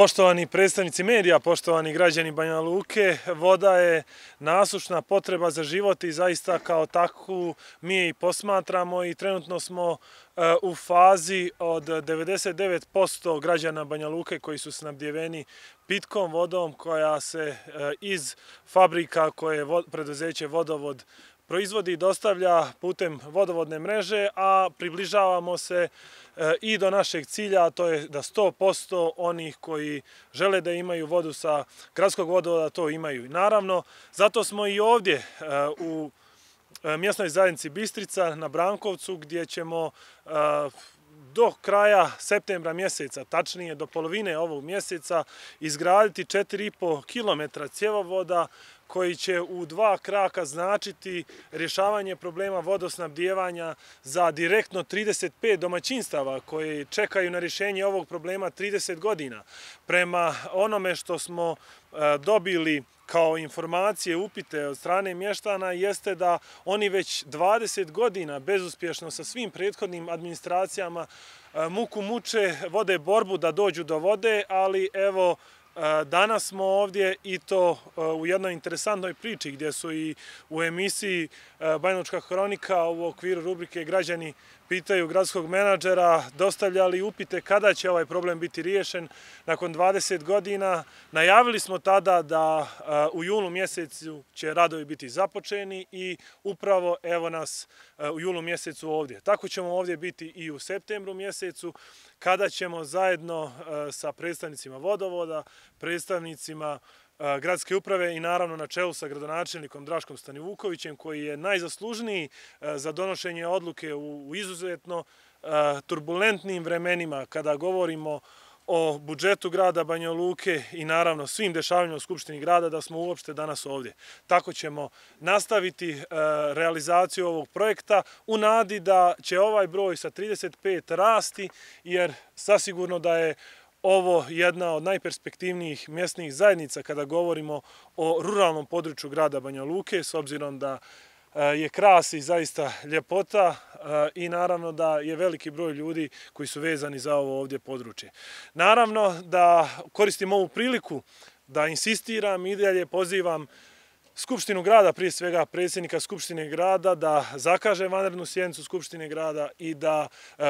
Poštovani predstavnici medija, poštovani građani Banja Luke, voda je nasušna potreba za život i zaista kao takvu mi je i posmatramo i trenutno smo u fazi od 99% građana Banja Luke koji su snabdjeveni pitkom vodom koja se iz fabrika koje preduzeće Vodovod proizvodi i dostavlja putem vodovodne mreže, a približavamo se i do našeg cilja, a to je da 100% onih koji žele da imaju vodu sa gradskog vodovoda to imaju. Naravno, zato smo i ovdje u mjesnoj zajednici Bistrica na Brankovcu, gdje ćemo do kraja septembra mjeseca, tačnije do polovine ovog mjeseca, izgraditi 4,5 km cjevovoda koji će u 2 kraka značiti rješavanje problema vodosnabdijevanja za direktno 35 domaćinstava koji čekaju na rješenje ovog problema 30 godina. Prema onome što smo dobili kao informacije, upite od strane mještana, jeste da oni već 20 godina bezuspješno sa svim prethodnim administracijama muku muče, vode borbu da dođu do vode, ali evo, danas smo ovdje i to u jednoj interesantnoj priči gdje su i u emisiji Banjalučka hronika u okviru rubrike Građani pitaju gradskog menadžera dostavljali upite kada će ovaj problem biti riješen nakon 20 godina. Najavili smo tada da u julu mjesecu će radovi biti započeni i upravo evo nas u julu mjesecu ovdje. Tako ćemo ovdje biti i u septembru mjesecu kada ćemo zajedno sa predstavnicima vodovoda, predstavnicima gradske uprave i naravno na čelu sa gradonačelnikom Draškom Stanivukovićem koji je najzaslužniji za donošenje odluke u izuzetno turbulentnim vremenima kada govorimo o budžetu grada Banja Luke i naravno svim dešavanjima u Skupštini grada da smo uopšte danas ovdje. Tako ćemo nastaviti realizaciju ovog projekta u nadi da će ovaj broj sa 35 rasti jer sasigurno da je ovo jedna od najperspektivnijih mjesnih zajednica kada govorimo o ruralnom području grada Banja Luke, s obzirom da je krasi zaista ljepota i naravno da je veliki broj ljudi koji su vezani za ovo ovdje područje. Naravno da koristim ovu priliku da insistiram i dalje pozivam Skupštinu grada, prije svega predsjednika Skupštine grada, da zakaže vanrednu sjednicu Skupštine grada i da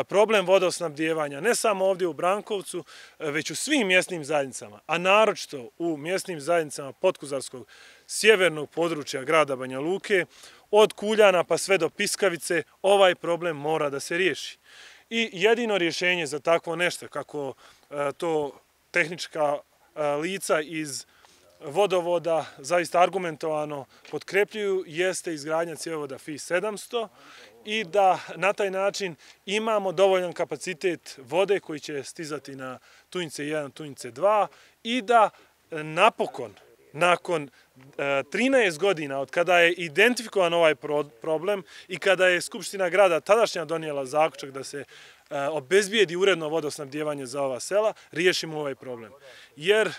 problem vodosnabdijevanja ne samo ovdje u Brankovcu, već u svim mjesnim zajednicama, a naročito u mjesnim zajednicama Podkuzarskog sjevernog područja grada Banja Luke, od Kuljana pa sve do Piskavice, ovaj problem mora da se riješi. I jedino rješenje za takvo nešto, kako to tehnička lica iz vodovoda zaista argumentovano potkrepljuju, jeste izgradnja cjevovoda FI 700 i da na taj način imamo dovoljan kapacitet vode koji će stizati na Tunjice 1, Tunjice 2 i da napokon, nakon 13 godina od kada je identifikovan ovaj problem i kada je Skupština grada tadašnja donijela zaključak da se obezbijedi uredno vodosnabdijevanje za ova sela, riješimo ovaj problem. Jer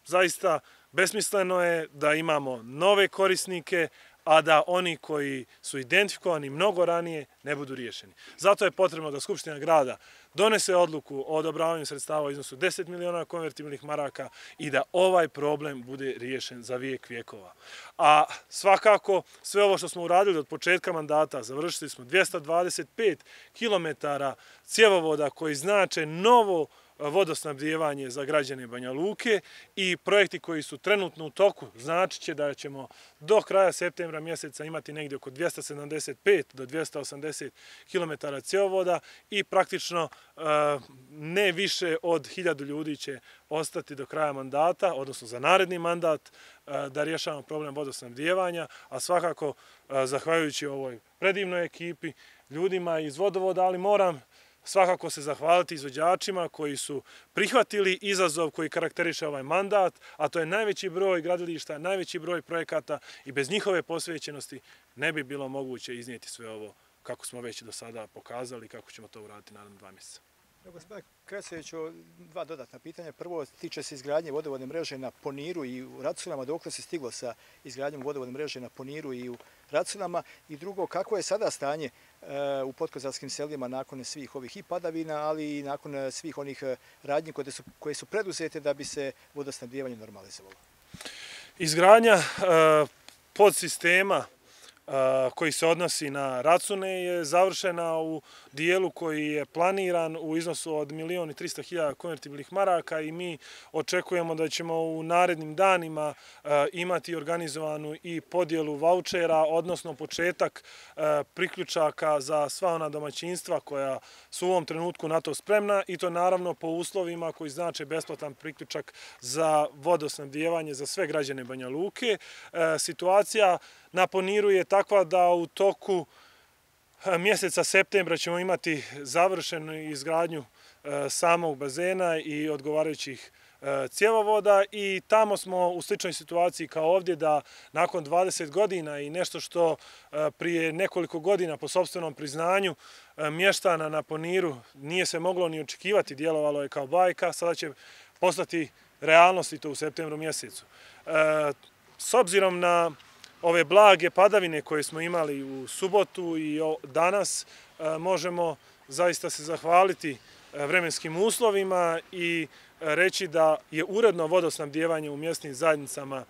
zaista besmisleno je da imamo nove korisnike, a da oni koji su identifikovani mnogo ranije ne budu riješeni. Zato je potrebno da Skupština grada donese odluku o odobravanju sredstava u iznosu 10 miliona konvertibilnih maraka i da ovaj problem bude riješen za vijek vjekova. A svakako sve ovo što smo uradili od početka mandata, završili smo 225 km cjevovoda koji znače novo vodosnabdijevanje za građane Banja Luke i projekti koji su trenutno u toku znači će da ćemo do kraja septembra mjeseca imati negdje oko 275 do 280 km cjevovoda i praktično ne više od 1000 ljudi će ostati do kraja mandata, odnosno za naredni mandat da rješavamo problem vodosnabdijevanja, a svakako zahvaljujući ovoj predivnoj ekipi, ljudima iz vodovoda, ali moram svakako se zahvaliti izvođačima koji su prihvatili izazov koji karakteriše ovaj mandat, a to je najveći broj gradilišta, najveći broj projekata i bez njihove posvećenosti ne bi bilo moguće iznijeti sve ovo kako smo već do sada pokazali i kako ćemo to uraditi naredno 2 mjeseca. Gospodine Kresoviću, 2 dodatna pitanja. Prvo tiče se izgradnje vodovodne mreže na Poniru i u Raculama. Dokle se stiglo sa izgradnjom vodovodne mreže na Poniru i u Racinama? I drugo, kako je sada stanje u podkozarskim selima nakon svih ovih i padavina, ali i nakon svih onih radnji koje su preduzete da bi se vodosnabdijevanje normalizovalo? Izgradnja podsistema koji se odnosi na Racune je završena u dijelu koji je planiran u iznosu od 1.300.000 konvertibilnih maraka i mi očekujemo da ćemo u narednim danima imati organizovanu i podjelu vaučera, odnosno početak priključaka za sva ona domaćinstva koja su u ovom trenutku na to spremna i to naravno po uslovima koji znače besplatan priključak za vodosnabdijevanje za sve građane Banja Luke. Situacija na Poniru je takva da u toku mjeseca septembra ćemo imati završenu izgradnju samog bazena i odgovarajućih cjevovoda i tamo smo u sličnoj situaciji kao ovdje da nakon 20 godina i nešto što prije nekoliko godina po sopstvenom priznanju mještana na Poniru nije se moglo ni očekivati, djelovalo je kao bajka, sada će postati realnost i to u septembru mjesecu. S obzirom na ove blage padavine koje smo imali u subotu i danas, možemo zaista se zahvaliti vremenskim uslovima i reći da je uredno vodosnabdijevanje u mjesnim zajednicama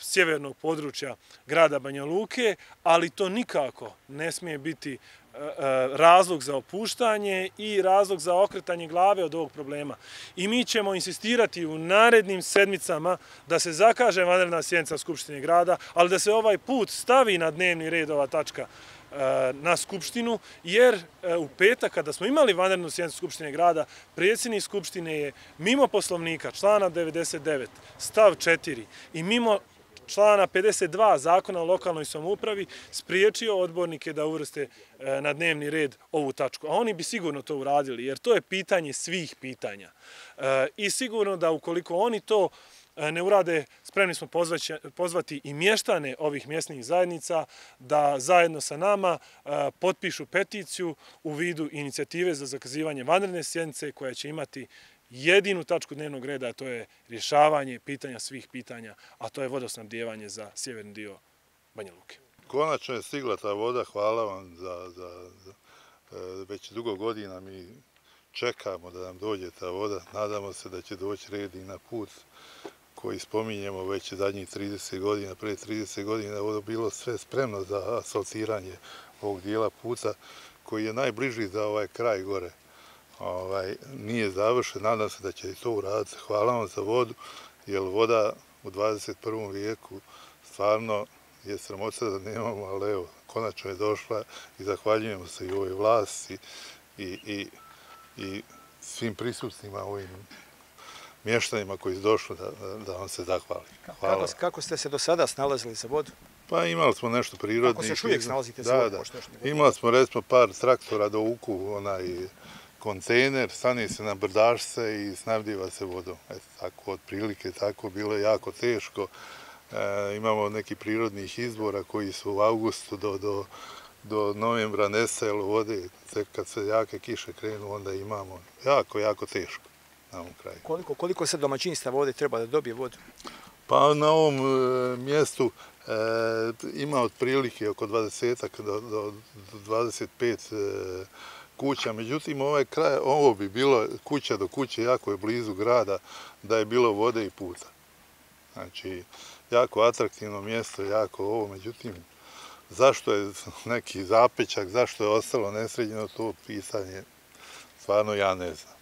sjevernog područja grada Banja Luke, ali to nikako ne smije biti razlog za opuštanje i razlog za okretanje glave od ovog problema. I mi ćemo insistirati u narednim sedmicama da se zakaže vanredna sjednica Skupštine grada, ali da se ovaj put stavi na dnevni red ova tačka na Skupštinu, jer u petak kada smo imali vanrednu sjednicu Skupštine grada, predsjednik Skupštine je mimo Poslovnika člana 99 stav 4 i mimo člana 52 Zakona o lokalnoj samoupravi spriječio odbornike da uvrste na dnevni red ovu tačku. A oni bi sigurno to uradili, jer to je pitanje svih pitanja. I sigurno da ukoliko oni to ne urade, spremni smo pozvati i mještane ovih mjesnih zajednica da zajedno sa nama potpišu peticiju u vidu inicijative za zakazivanje vanredne sjednice koja će imati jedinu tačku dnevnog reda, a to je rješavanje pitanja svih pitanja, a to je vodosnabdijevanje za sjeverni dio Banja Luke. Konačno je stigla ta voda, hvala vam već dugo godina mi čekamo da nam dođe ta voda, nadamo se da će doći red i na put koji spominjemo već zadnjih 30 godina, pre 30 godina je ovo bilo sve spremno za asfaltiranje ovog dijela puta koji je najbliži za ovaj kraj gore. Nije završen, nadam se da će i to uraditi. Hvala vam za vodu, jer voda u 21. vijeku stvarno je sramota da nemamo, ali evo, konačno je došla i zahvaljujemo se i ovoj vlasti i svim prisutnima ovim mještanima koji su došli da vam se zahvali. Kako ste se do sada snalazili za vodu? Pa imali smo nešto prirodnih. Kako se još uvijek snalazite za vodu? Imali smo recimo par traktora do uku, onaj kontejner, stane se na brdašce i snabdijeva se vodom. Eto, tako otprilike, tako bilo je jako teško. Imamo neki prirodnih izvora koji su u avgustu do novembra nestajalo vode. Kad se jake kiše krenu, onda imamo jako teško na ovom kraju. Koliko se domaćinstva vode treba da dobije vodu? Pa na ovom mjestu ima otprilike oko 20 do 25 kuća, međutim ovo bi bilo kuća do kuće, jako je blizu grada, da je bilo vode i puta. Znači, jako atraktivno mjesto, jako ovo, međutim, zašto je neki zapečak, zašto je ostalo nesređeno, to pitanje, stvarno ja ne znam.